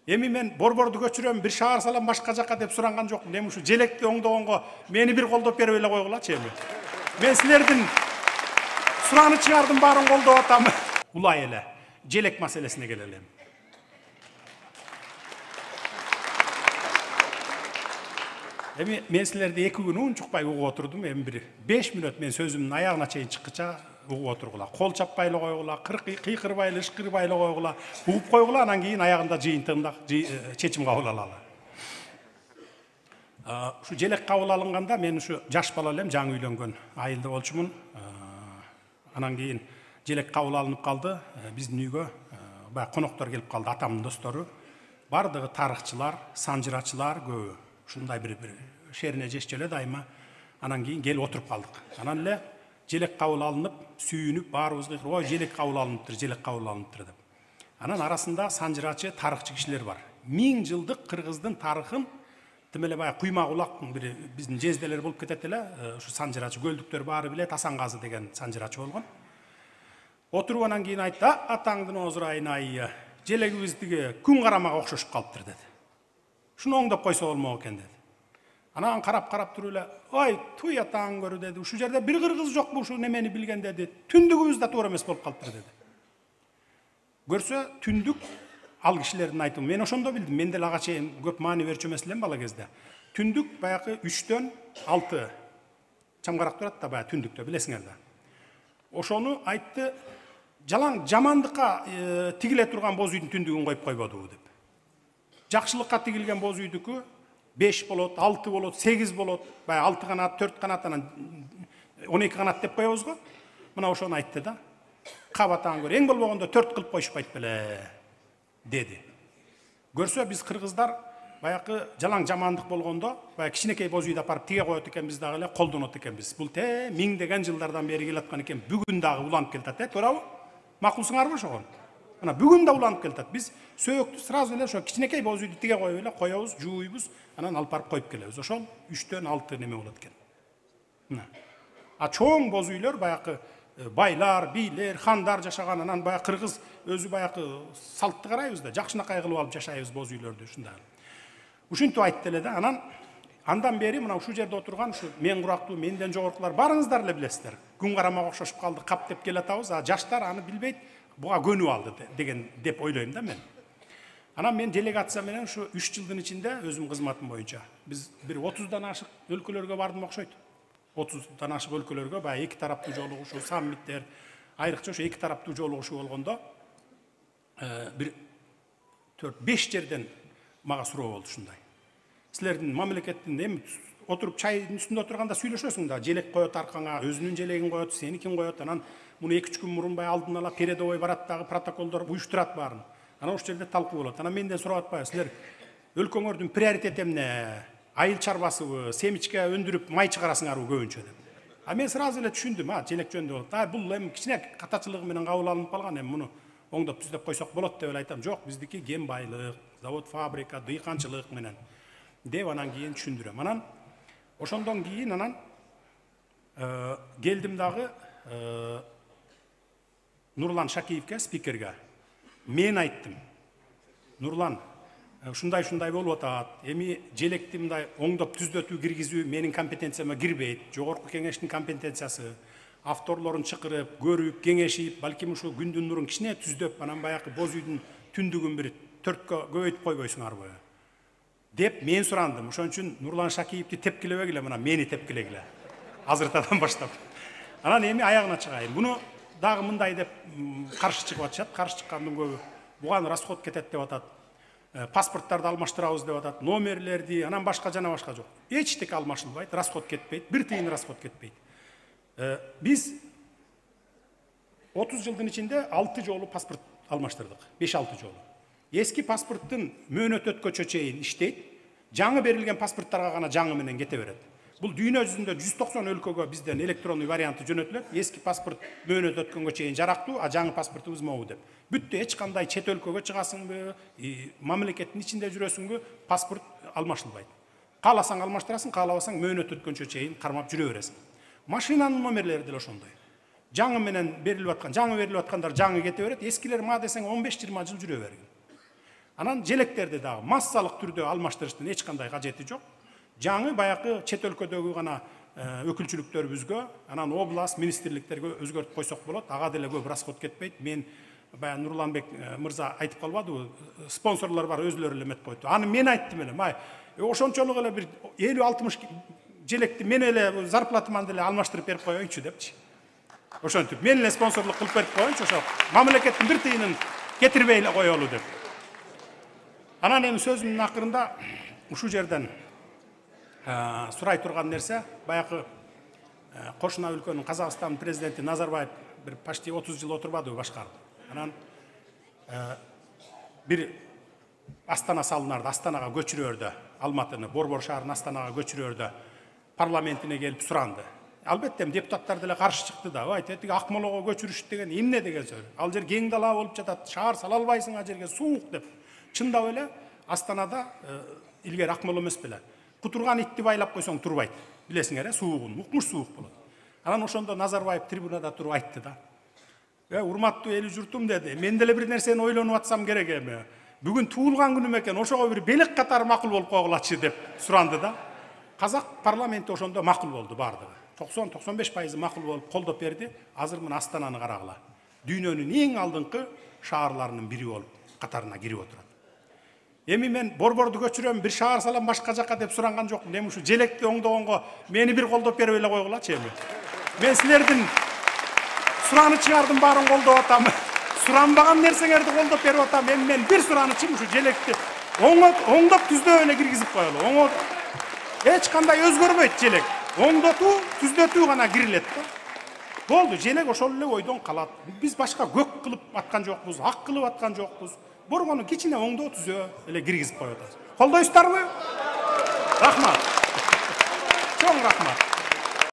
Эми мен борборду көчүрөм, бир шаар салам башка жакка деп суранган жокмун. Эми ушу желекти оңдогонго мени бир колдоп берип эле койгулачы эми. Мен силердин суранычыңардын баарын колдоп атам. Улай эле желек маселесине келелим. Эми мен силерди 2 күн унчукпай угуп отурдум. Эми бир 5 мүнөт мен сөзүмдүн аягына чейин чыккыча угуп отургула. Кол чаппай эле койгула, кыйкырбай эле, ышкырбай эле койгула, угуп койгула, анан кийин аягында жыйынтыгында чечим кабыл алалы. Ушу желек кабыл алынганда мен ушу жаш бала элем, жаңы үйлөнгөн айылда болчумун. Анан кийин желек кабыл алынып калды. Биздин үйгө баягы коноктор келип калды, атамдын достору. Бардыгы тарыхчылар, санжырачылар көбү. Ушундай бир шерине жешчү эле дайыма. Анан кийин келип отуруп калдык. Анан эле желек кабыл алынып, сүйүнүп, баарыбыз кыйкырып, ой, желек кабыл алыныптыр, желек кабыл алыныптыр деп. Анан арасында санжырачы, тарыхчы кишилер бар. 1000 жылдык кыргыздын тарыхын тим эле баягы куйма кулактын бир биздин жезделер болуп кетет эле. Ушу санжырачы көлдүктөр баары билет, Асангазы деген санжырачы болгон. Отуруп анан кийин айтты: "Атаңдын озурайын ай, желегибиз тиги күн карамага окшошуп калыптыр" деди. Шуну оңдоп койсо болмок экен деди. Анан карап туруп эле: "Ой, туй атаң көрү" деди. "Ушул жерде бир кыргыз жокпу ушу немени билген" деди. "Түндүгүбүз да туура эмес болуп калыптыр" деди. Көрсө, түндүк ал кишилердин айтымы. Мен ошондо билдим. Мен деле ага чейин көп маани берчү эмес элем бала кезде. Түндүк баягы 3-төн 6 чамгарак турат да баягы түндүктө, билесиңер да. Ошону айтты, жалаң жамандыкка тигиле турган боз үйдүн түндүгүн коюп койбодубу деп. Жакшылыкка тигилген боз үйдүкү 5 болот, 6 болот, 8 болот, баягы 6 канат, 4 канат, анан 12 канат деп коебуз го. Мына ошону айтты да. Кабатаң көр, эң болбогондо 4 кылып коюшпайт беле деди. Көрсө, биз кыргыздар баягы жалаң жамандык болгондо, баягы кичинекей боз үйдү апарып тиге коет экенбиз дагы эле, колдонот экенбиз. Бул миңдеген жылдардан бери келаткан экен, бүгүн дагы уланып келатат, туурабы? Макулсуңарбы ошого? Мына бүгүн да уланып келатат. Биз сөөктү сразу эле ошо кичинекей боз үйдү тиге коюп эле коебуз, жууйбуз, анан алып барып коюп келебиз. Ошол 3-төн 6 неме болот экен. Мына. А чоң боз үйлөр баягы байлар, бийлер, хандар жашаган, анан баягы кыргыз өзү баягы салтты карайбыз да, жакшынакай кылып алып жашайбыз боз үйлөрдү ушундай. Ушинтип айтты эле да. Анан андан бери мына ушул жерде отурган ушу мен курактуу, менден жогоркулар барыңыздар эле билесиздер. Күн карамага окшошуп калды, кап деп келатабыз, а жаштар аны билбейт, буга көнүп алды деген деп ойлойм да мен. Анан мен делегация менен ушу 3 жылдын ичинде өзүм кызматым боюнча биз бир 30дан ашык өлкөлөргө бардым окшойт. 30дан ашык өлкөлөргө баягы эки тараптуу жолугушуу, саммиттер, айрыкча ошо эки тараптуу жолугушуу болгондо бир 4-5 жерден мага суроо болду ушундай. Силердин мамлекеттин эми отуруп чайдын үстүндө отурганда сүйлөшөсүң да, желек коет аркаңа, өзүнүн желегин коет, сеникин коет, анан муну 2-3 күн мурун баягы алдын ала передовой барат дагы, протоколдор уюштурат баарын. Анан ошол жерде талкуу болот. Анан менден сурап атпайбы, силер өлкөңөрдүн приоритети эмне? Айыл чарбасыбы, семичке өндүрүп май чыгарасыңарбы көбүнчө деп. А мен сразу эле түшүндүм, желек жөнүндө болот. Бул эми кичине катачылыгы менен кабыл алынып калган, эми муну оңдоп түзөп койсок болот деп эле айтам. Жок, биздики кен байлык, завод, фабрика, дыйканчылык менен деп анан кийин түшүндүрөм. Анан ошондон кийин анан келдим дагы Нурлан Шакиевке, спикерге. Мен айттым: "Нурлан, ушундай болуп атат. Эми желекти мындай оңдоп түзөтүү киргизүү менин компетенцияма кирбейт. Жогорку кеңештин компетенциясы. Авторлорун чакырып, көрүп, кеңешип, балким ушу күндүн нурун кичине түздөп, анан баягы боз үйдүн түндүгүн бир 4кө көбөйтүп койбойсуңарбы?" деп мен сурандым. Ошон үчүн Нурлан Шакиевди тепкилебегиле, мына мени тепкилегиле. Азыртадан баштап. Анан эми аягына чыгайын. Буну дагы мындай деп каршы чыгып атышат. Каршы чыккандын көбү буган расход кетет деп атат. Паспорттарды алмаштырабыз деп атат. Номерлерди, анан башка жана башка жок. Эчтеке алмашылбайт, расход кетпейт, бир тыйын расход кетпейт. Биз 30 жылдын ичинде 6 жолу паспорт алмаштырдык. 5-6 жолу. Эски паспорттун мөөнөт өткөчө чейин иштейт. Жаңы берилген паспорттарга гана жаңы менен кете берет. Бул дүйнө жүзүндө 190 өлкөгө бизден электрондуу варианты жөнөтүлөт. Эски паспорт мөөнөт өткөнгө чейин жарактуу, а жаңы паспортубуз могу деп. Бүттү, эч кандай чет өлкөгө чыгасыңбы, мамлекеттин ичинде жүрөсүңбү, паспорт алмашылбайт. Кааласаң алмаштырасың, каалабасаң мөөнөт өткөнчө чейин кармап жүрө бересиң. Машинанын номерлери деле ошондой. Жаңы менен берилип аткан, жаңы берилип аткандар жаңы кете берет, эскилер ма десең 15-20 жыл жүрө бергин. Анан желектерди дагы массалык түрдө алмаштырыштын эч кандай кажети жок. Жаңы баягы чет өлкөдөгү гана өкүлчүлүктөрүбүзгө, анан область министрликтерге өзгөртүп койсок болот. Ага деле көп расход кетпейт. Мен баягы Нурланбек мырза айтып калбадыбы? Спонсорлор бар, өзлөрү эле эметип койду. Аны мен айттым эле. Май ошончолук эле бир 50-60 желекти мен эле зарплатаман деле алмаштырып берип коеюнчу депчи. Ошентип мен эле спонсорлук кылып берип коеюнчу, ошо мамлекеттин бир тыйынын кетирбей эле коелу деп. Анан эми сөзүмдүн акырында ушул жерден сурай турган нерсе, баягы кошуна өлкөнүн Казакстан президенти Назарбаев бир почти 30 жыл отурбадыбы башкарып. Анан бир Астана салынарды, Астанага көчүрөөрдө, Алматыны, Борбор шаарын Астанага көчүрөөрдө парламентине келип суранды. Албетте депутаттар деле каршы чыкты да. Ой, тетиги Акмолого көчүрүш деген эмне деген сөз. Ал жер кең дала болуп жатат, шаар сала албайсың, ал жерге суук деп. Чындап эле Астанада илгери Акмол эмес беле. Кутурган итти байлап койсоң турбайт. Билесиңер, суугун, укмуш суук болот. Анан ошондо Назарбаев трибунада туруп айтты да. Урматтуу эл журтум деди. Мен деле бир нерсени ойлонуп атсам керек эми. Бүгүн туулган күнүм экен, ошого бир белек катары макул болуп койгулачы деп суранды да. Казак парламенти ошондо макул болду бардыгы. 90-95% макул болуп колдоп берди. Азыр мына Астананы карагыла. Дүйнөнүн эң алдыңкы шаарларынын бири болуп катарына кирип отурат. Эми мен Борборду көчүрөм, бир шаар салам башка жакка деп суранган жокмун. Эми ушу желекти оңдогонго мени бир колдоп берип эле койгулачы эми. Мен силердин суранычыңардын баарын колдоп атам. Суранбаган нерсеңерди колдоп берип атам. Эми мен бир суранычым ушу желекти оңдоп түздөп эле киргизип коелу. Эч кандай өзгөрбөйт желек. Оңдотуу, түздөтүү гана кирилет да. Болду, желек ошол эле ойдон калат. Биз башка көк кылып аткан жокпуз, ак кылып аткан жокпуз. Боргону кичине оңдоо түзөө эле киргизип коёбуз. Колдойсуздарбы? Рахмат. Чоң рахмат.